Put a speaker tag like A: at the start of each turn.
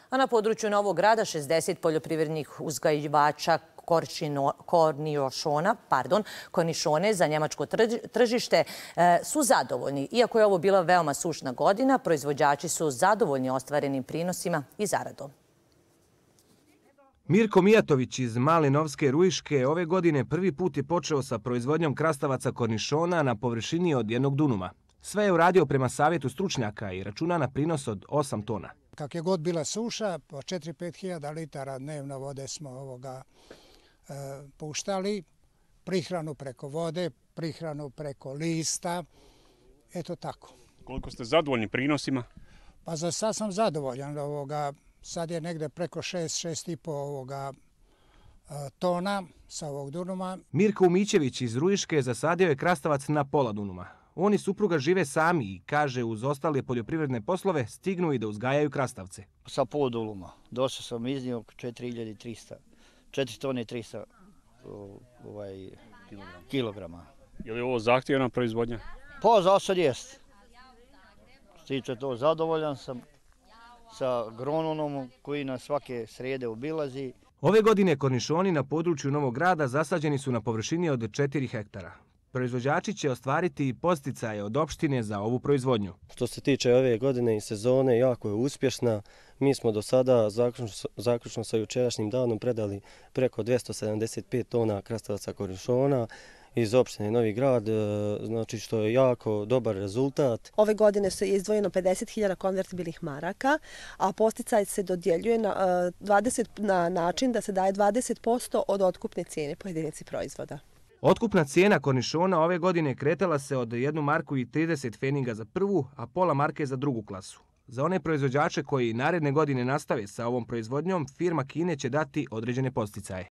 A: A na području Novog Grada 60 poljoprivrednih uzgajivača kornišone za njemačko tržište su zadovoljni. Iako je ovo bila veoma sušna godina, proizvođači su zadovoljni ostvarenim prinosima i zaradom.
B: Mirko Mijatović iz Malinovske Ruiške ove godine prvi put je počeo sa proizvodnjom krastavaca kornišona na površini od 1 dunuma. Sve je uradio prema savjetu stručnjaka i računa na prinos od 8 tona.
C: Kak je god bila suša, po 4-5 hiljada litara dnevno vode smo puštali, prihranu preko vode, prihranu preko lista, eto tako.
D: Koliko ste zadovoljni prinosima?
C: Pa za sad sam zadovoljan. Sad je negde preko 6,5 tona sa ovog dunuma.
B: Mirko Umićević iz Ruiške zasadio je krastavac na pola dunuma. On i supruga žive sami i, kaže, uz ostale poljoprivredne poslove stignu i da uzgajaju krastavce.
E: Sa pol dunuma. Došao sam iznio 4 tone i 300 kilograma.
D: Je li ovo zahtjevna proizvodnja?
E: Pa za sad jest. Stiče to, zadovoljan sam sa agronomom koji nas svake srijede obilazi.
B: Ove godine kornišoni na području Novog Grada zasađeni su na površini od 4 hektara. Proizvođači će ostvariti podsticaje od opštine za ovu proizvodnju.
F: Što se tiče ove godine i sezone, jako je uspješna. Mi smo do sada, zaključno sa jučerašnjim danom, predali preko 275 tona krastavaca kornišona iz opštine Novi Grad, znači što je jako dobar rezultat.
G: Ove godine je izdvojeno 50.000 konvertibilnih maraka, a podsticaj se dodjeljuje na način da se daje 20% od otkupne cijene po jedinici proizvoda.
B: Otkupna cijena kornišona ove godine kretala se od 1 marku i 30 pfeniga za prvu, a pola marke za drugu klasu. Za one proizvođače koji naredne godine nastave sa ovom proizvodnjom, firma Kine će dati određene podsticaje.